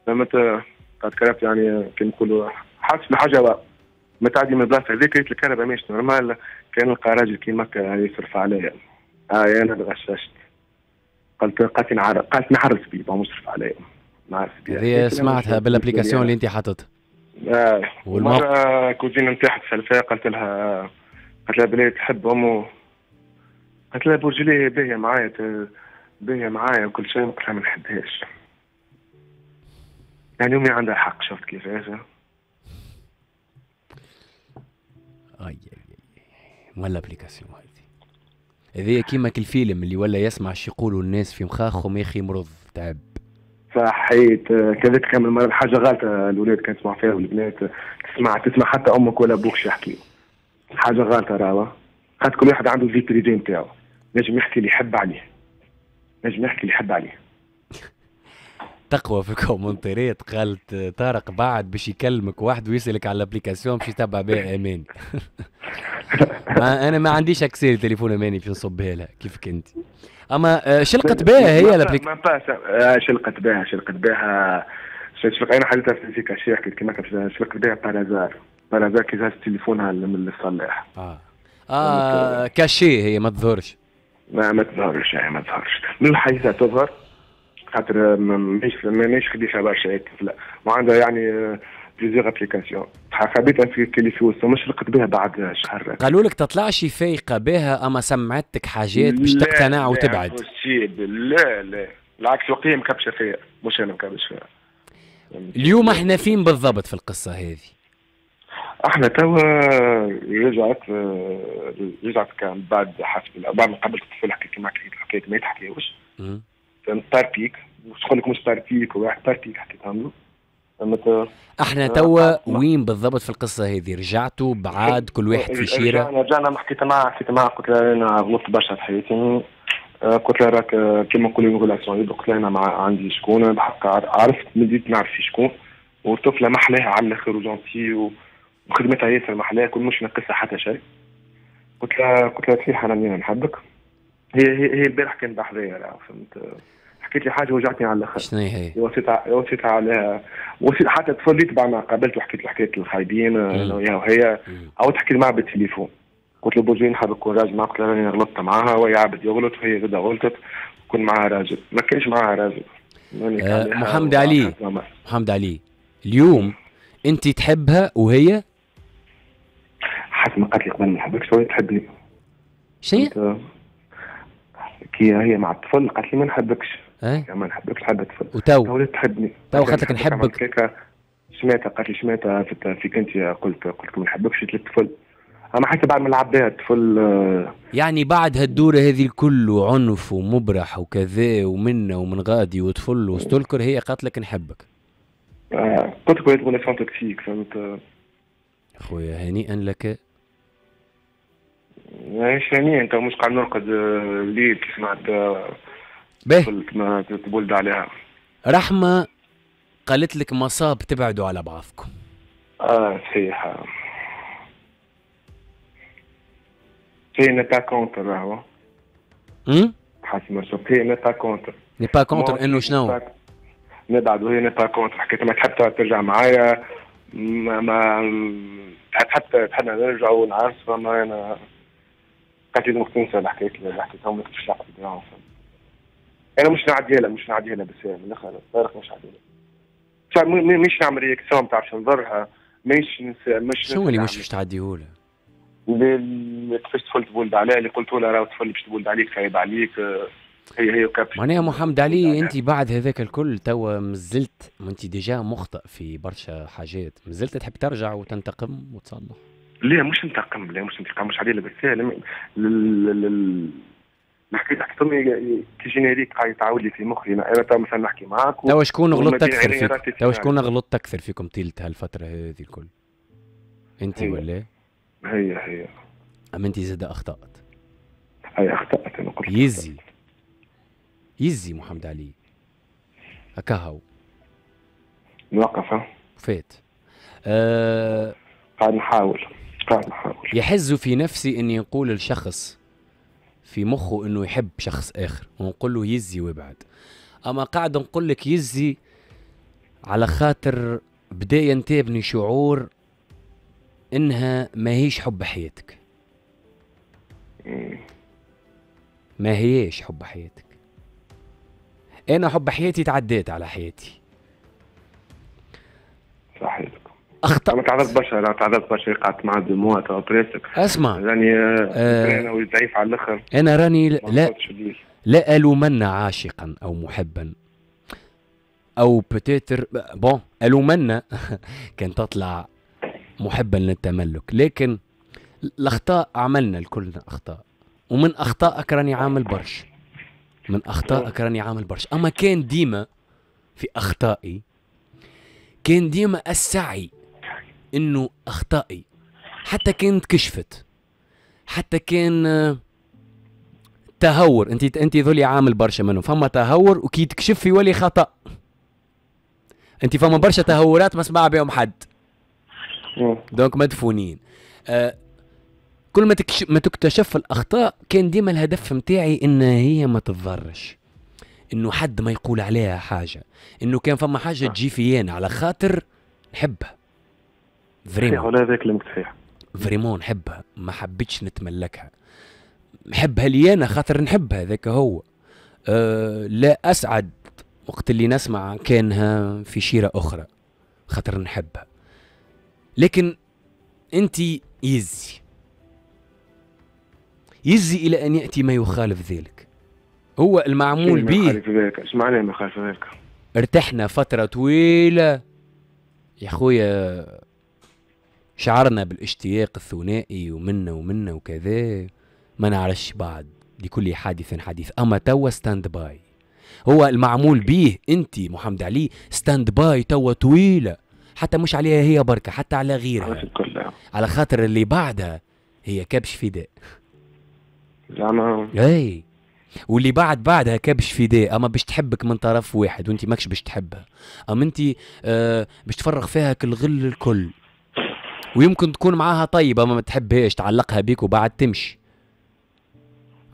Speaker 3: فهمت، قالت كرهبت يعني كيما نقولوا حاسس بحاجة متعدي من البلاصة هذيك، قلت الكرهبه ماهيش normale، كان نلقى راجل كيما يصرف عليا. اه انا تغششت. قالت قالت نعرف قالت نعرس بيه مصرف عليا نعرس بيه.
Speaker 2: هذه سمعتها بال application اللي انت حاططها.
Speaker 3: اه والمرة cousine نتاعها تسال فيها قالت لها قالت لها بلي تحب امو، قالت لها برجلي باهيه معايا باهيه معايا وكل شيء، قلت لها ما نحبهاش. يعني امي عندها حق، شفت كيفاش؟
Speaker 2: اي اي اي ولا application هذه هذه كيما الفيلم اللي ولا يسمع شي يقولوا الناس في مخاخهم يا اخي مرض تعب.
Speaker 3: صحيت كذلك كان المرة حاجة غلطه الاولاد كانت تسمع فيها والبنات تسمع تسمع حتى امك ولا ابوك شي يحكيو حاجة غلطه راهو، خاطر كل واحد عنده vie privée نتاعو، نجم يحكي اللي يحب عليه، نجم يحكي اللي يحب عليه.
Speaker 2: تقوى في الكومنتات قالت طارق بعد باش يكلمك واحد ويسالك على l'application باش يتبع بها اماني. ما انا ما عنديش accès لتليفون اماني باش نصبها لها كيفك انت. اما شلقت بها هي l'application؟
Speaker 3: ما شلقت بها شلقت بها شلقت انا حليتها في cachet حكيت كيما شلقت بها par hasard par hasard كي هز تليفونها من الصلاح.
Speaker 2: اه اه cachée هي ما تظهرش.
Speaker 3: ما ما تظهرش ما تظهرش من الحديثة تظهر خاطر ماهيش ماهيش خديشه برشا هيك، وعندها يعني plusieurs applications خبيتها في كلي في وسط مش لقيت بها بعد شهر.
Speaker 2: قالوا لك تطلعش فايقه بها اما سمعتك حاجات باش تقتنع وتبعد.
Speaker 3: لا لا بالعكس وقتها مكبشه فيا مش انا مكبش فيها.
Speaker 2: اليوم احنا فين بالضبط في القصة هذه؟
Speaker 3: احنا توا رجعت رجعت كان بعد حسب بعد ما قابلت الطفل حكيت معك حكاية ما يتحكيوش. فهمت par pic مش نقول لك مش par pic واحد par pic حكيتها له. فهمت
Speaker 2: احنا توا وين بالضبط في القصة هذه؟ رجعتوا بعاد كل واحد في شيره؟
Speaker 3: رجعنا رجعنا حكيت معها حكيت معها قلت لها انا غلطت برشا في حياتي، قلت لها راك كيما نقولوا relation، قلت لها انا مع عندي شكون بحق عرفت بديت نعرف في شكون، والطفله محلاها على الاخر و gentille وخدمتها ياسر محلاها كل مش ناقصها حتى شيء. قلت لها قلت لها صحيح انا نحبك. هي هي هي البارح كانت بحذايا فهمت، حكيت لي حاجة وجعتني على الاخر.
Speaker 2: شنو هي؟
Speaker 3: وصيتها وصيتها عليها وصيت حتى تفضلت بعد ما قابلت وحكيت له حكاية الخايبين انا وياها وهي عاودت حكيت معها بالتليفون. قلت له بوجي نحب نكون راجل معك، قلت لها راني غلطت معاها وهي عبد يغلط وهي زادة غلطت، كون معاها راجل، ما كانش معاها راجل.
Speaker 2: آه محمد علي محمد علي اليوم انت تحبها وهي؟
Speaker 3: حسب ما قالت لي قبل ما نحبكش وهي تحبني.
Speaker 2: شنو؟
Speaker 3: كي هي مع الطفل قالت لي ما نحبكش.
Speaker 2: أه؟
Speaker 3: ما نحبكش نحب الطفل.
Speaker 2: وتو
Speaker 3: ولات تحبني.
Speaker 2: تو قالت لك نحبك.
Speaker 3: سمعتها قالت لي سمعتها فيك انت قلت قلت ما نحبكش للطفل. اما حتى بعد ما لعب بها الطفل
Speaker 2: يعني بعد هالدوره هذه الكل وعنف ومبرح وكذا ومنا ومن غادي وطفل و stalker هي قالت لك نحبك.
Speaker 3: آه قلت لك ولات relation toxique فهمت.
Speaker 2: خويا هنيئا لك.
Speaker 3: ماهيش هنيئا انت مش قاعد نرقد الليل كي سمعت
Speaker 2: باهي
Speaker 3: ما تبولد عليها.
Speaker 2: رحمه قالت لك مصاب تبعدوا على بعضكم.
Speaker 3: اه صحيح. هي n'est pas contre راهو.
Speaker 2: امم
Speaker 3: حسب ما شفت هي n'est pas contre.
Speaker 2: n'est pas contre انه شنو؟
Speaker 3: نبعد وهي n'est pas contre، حكيت ما تحب ترجع معايا، ما ما تحب تحب نرجع ونعرس، فما انا قالت لي تنسى الحكاية اللي حكيتها ما كنتش نعرف. انا مش نعديها لها، مش نعديها لها، بس من الاخر طارق مش نعديها لها، مش نعمل réaction تاع باش نضرها، مش مش
Speaker 2: شنو اللي مش باش تعديه لها؟
Speaker 3: كيفاش طفل تبولد عليها، اللي قلت لها راه طفل باش تبولد عليك خايب عليك، هي هي وكابش.
Speaker 2: معناها محمد علي انت بعد هذاك الكل توا مازلت، انت déjà مخطئ في برشا حاجات، مازلت تحب ترجع وتنتقم وتصلح؟
Speaker 3: لا مش انتقم، لا مش انتقام، مش عليه، بس الحكاية حكيتهم كي générique قاعد يتعاود لي في مخي انا تو مثلا نحكي معاك.
Speaker 2: توا شكون غلطت اكثر فيكم؟ توا شكون غلطت اكثر فيكم طيلة هالفترة هذه الكل؟ انت ولا؟
Speaker 3: هي هي.
Speaker 2: اما انت زاد اخطات.
Speaker 3: هي اخطات انا قلت
Speaker 2: يزي يزي محمد علي هكا هو
Speaker 3: نوقف
Speaker 2: فات. أه
Speaker 3: قاعد نحاول قاعد نحاول.
Speaker 2: يحز في نفسي اني نقول لشخص في مخه انه يحب شخص اخر ونقول له يزي وابعد، اما قاعد نقول لك يزي على خاطر بدا ينتابني شعور انها ما هيش حب حياتك. ما هيش حب حياتك. انا حب حياتي تعديت على حياتي.
Speaker 3: صحيح.
Speaker 2: اخطأت.
Speaker 3: انا تعرضت برشا، انا تعرضت برشا، قعدت مع دموع تو presque.
Speaker 2: اسمع
Speaker 3: راني آه ضعيف على الاخر.
Speaker 2: انا راني لا لا الومن عاشقا او محبا او peut-être bon الومن كان تطلع محبا للتملك، لكن الاخطاء عملنا الكلنا اخطاء، ومن اخطائك راني عامل برش، من اخطائك راني عامل برش. اما كان ديما في اخطائي كان ديما السعي انه اخطائي حتى كانت كشفت، حتى كان تهور، انت انت ذولي عامل برشا منه، فما تهور وكي تكشف يولي خطا. انت فما برشا تهورات ما سمع بهم حد، donc مدفونين. آه كل ما تكشف ما تكتشف الاخطاء كان ديما الهدف متاعي ان هي ما تتضرش، انه حد ما يقول عليها حاجة، انه كان فما حاجة تجي فيانا على خاطر نحبها vraiment.
Speaker 3: ولا هذاك كلامك صحيح،
Speaker 2: vraiment نحبها، ما حبيتش نتملكها، نحبها لي انا خاطر نحبها، هذاك هو. أه لا اسعد وقت اللي نسمع كانها في شيره اخرى خاطر نحبها، لكن انت يزي يزي الى ان ياتي ما يخالف ذلك. هو المعمول به.
Speaker 3: ايش معناه ما يخالف ذلك؟
Speaker 2: ارتحنا فترة طويلة يا خويا، شعرنا بالاشتياق الثنائي ومنا ومنا وكذا، ما نعرفش بعد لكل حادث حديث. اما توا stand-by، هو المعمول به انت محمد علي stand-by توا طويلة، حتى مش عليها هي بركة، حتى على غيرها، على خاطر اللي بعدها هي كبش فداء
Speaker 3: زعما.
Speaker 2: اي واللي بعد بعدها كبش فداء، اما باش تحبك من طرف واحد وانت ماكش باش تحبها، اما انت آه باش تفرغ فيها كل غل الكل، ويمكن تكون معاها طيبة اما ما تحبهاش، تعلقها بيك وبعد تمشي،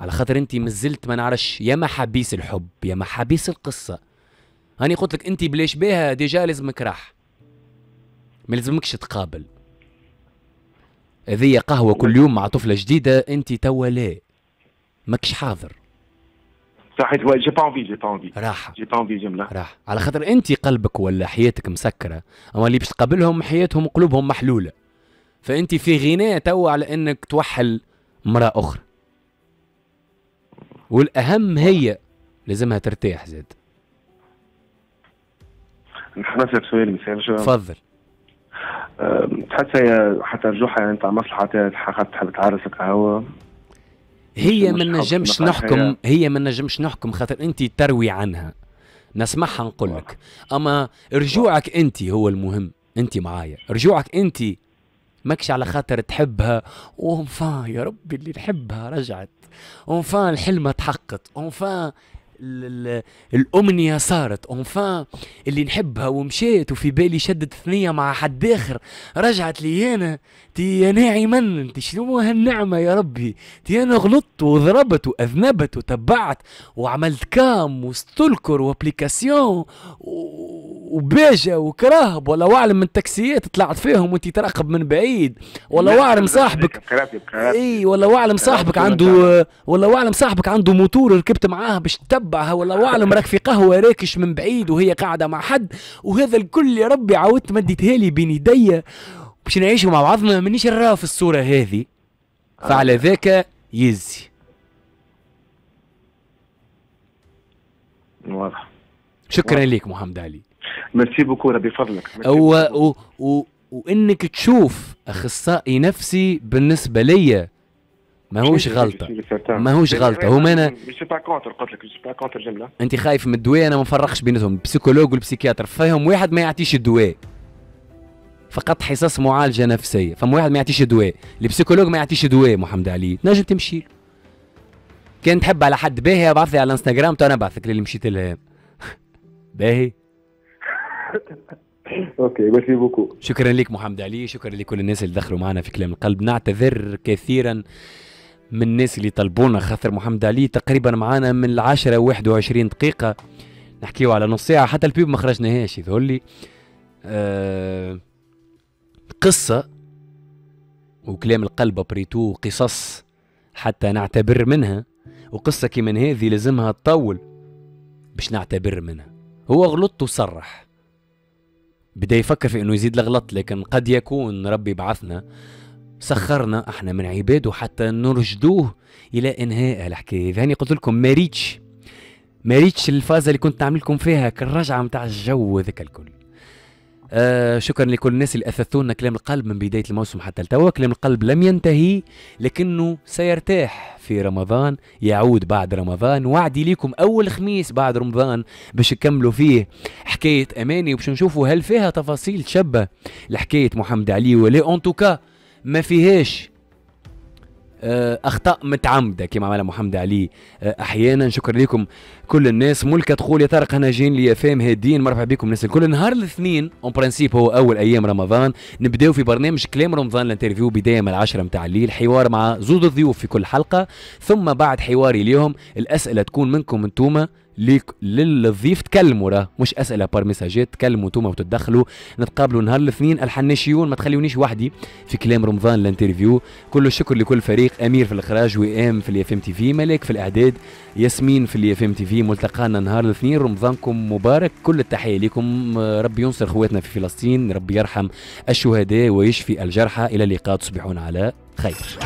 Speaker 2: على خاطر انت مازلت ما نعرفش يا محابيس الحب يا محابيس القصة. هاني قلت لك انت بلاش بيها déjà لازمك راح، ما لازمكش تقابل. هذه قهوة كل يوم مع طفله جديدة، انت توا لا ماكش حاضر.
Speaker 3: صحيح، j'ai pas envie، j'ai pas envie
Speaker 2: راحة،
Speaker 3: j'ai pas envie جملة
Speaker 2: راحة، على خاطر انت قلبك ولا حياتك مسكره، اما اللي باش تقابلهم حياتهم قلوبهم محلولة، فانت في غنى توا على انك توحل امراة اخرى. والاهم هي لازمها ترتاح زاد.
Speaker 3: نحن نسألك سؤال مثال.
Speaker 2: تفضل.
Speaker 3: تحس هي حتى رجوعها نتاع مصلحة تحب تعرسك هو
Speaker 2: هي ما نجمش نحكم، هي ما نجمش نحكم خاطر انت تروي عنها، نسمعها نقول لك، اما رجوعك انت هو المهم. انت معايا، رجوعك انت ماكش على خاطر تحبها enfin يا ربي اللي نحبها رجعت، enfin الحلمة تحققت، enfin الامنية صارت enfin اللي نحبها ومشيت وفي بالي شدت ثنيه مع حد اخر، رجعت لي انا. تي يا ناعما انت شنو هالنعمه يا ربي؟ تي انا غلطت وضربت واذنبت وتبعت وعملت cam و stalker و application وباجة وكراهب ولا اعلم من التاكسيات طلعت فيهم وانت تراقب من بعيد، ولا اعلم صاحبك اي ولا اعلم صاحبك عنده ولا اعلم صاحبك عنده موتور ركبت معاه باش تتبعها، ولا اعلم راك في قهوة راكش من بعيد وهي قاعدة مع حد، وهذا الكل يا ربي عاودت مديتها لي بين يدي باش نعيشوا مع بعضنا. مانيش نراه في الصورة هذه، فعلى ذاك يزي.
Speaker 3: واضح.
Speaker 2: شكرا لك محمد علي.
Speaker 3: merci beaucoup، ربي يفضلك.
Speaker 2: و... و... و... وانك تشوف اخصائي نفسي بالنسبة ليا ماهوش غلطه، ماهوش غلطه. هما انا
Speaker 3: je suis pas contre، قلت لك je suis pas contre جملة.
Speaker 2: انت خايف من الدواء، انا ما نفرقش بيناتهم، ال psychologue وال psychiatre فيهم واحد ما يعطيش الدواء، فقط حصص معالجة نفسية، فما واحد ما يعطيش دواء، ال psychologue ما يعطيش دواء. محمد علي تنجم تمشي له كان تحب على حد باهي، ابعث لي على الانستغرام تو انا نبعثك للي مشيت لها. باهي.
Speaker 3: OK merci beaucoup.
Speaker 2: شكرا لك محمد علي، شكرا لكل الناس اللي دخلوا معنا في كلام القلب. نعتذر كثيرا من الناس اللي طلبونا، خاطر محمد علي تقريبا معنا من العشرة واحد وعشرين دقيقة، نحكيو على نص ساعة، حتى ال pub ما خرجناهاش يظهر لي. أه قصة وكلام القلب après tout قصص حتى نعتبر منها، وقصة كيما هذه لازمها تطول باش نعتبر منها. هو غلط وصرح، بدا يفكر في انه يزيد الغلط، لكن قد يكون ربي بعثنا سخرنا احنا من عباده حتى نرشدوه الى انهاء الحكاية. هاني قلت لكم ما ريتش ما ريتش الفازة اللي كنت نعمل لكم فيها كالرجعه نتاع الجو هذاك الكل. آه شكرا لكل الناس اللي اثثونا كلام القلب من بداية الموسم حتى لتوا. كلام القلب لم ينتهي لكنه سيرتاح في رمضان، يعود بعد رمضان. وعدي ليكم اول خميس بعد رمضان باش نكملوا فيه حكاية اماني، وباش نشوفوا هل فيها تفاصيل تشبه لحكاية محمد علي ولا en tout cas ما فيهاش اخطاء متعمدة كما عملها محمد علي احيانا. شكرا لكم كل الناس. ملكه تقول يا طارق انا جايين لي فام هادين، مرحبا بكم الناس الكل. نهار الاثنين en principe هو اول ايام رمضان، نبداو في برنامج كلام رمضان ال interview بداية من العشرة متاع الليل، حوار مع زوج الضيوف في كل حلقة، ثم بعد حواري اليوم الاسئلة تكون منكم انتوما ليك للضيف، تكلموا راه مش اسئلة par messages، تكلموا انتوما وتتدخلوا. نتقابلوا نهار الاثنين. الحناشيون ما تخليونيش وحدي في كلام رمضان ال interview. كل الشكر لكل فريق، امير في الاخراج، وئام في ال IFM TV، ملاك في الاعداد، ياسمين في ال IFM TV. ملتقانا نهار الاثنين، رمضانكم مبارك. كل التحية لكم، ربي ينصر اخواتنا في فلسطين، ربي يرحم الشهداء ويشفي الجرحى. الى اللقاء، تصبحون على خير.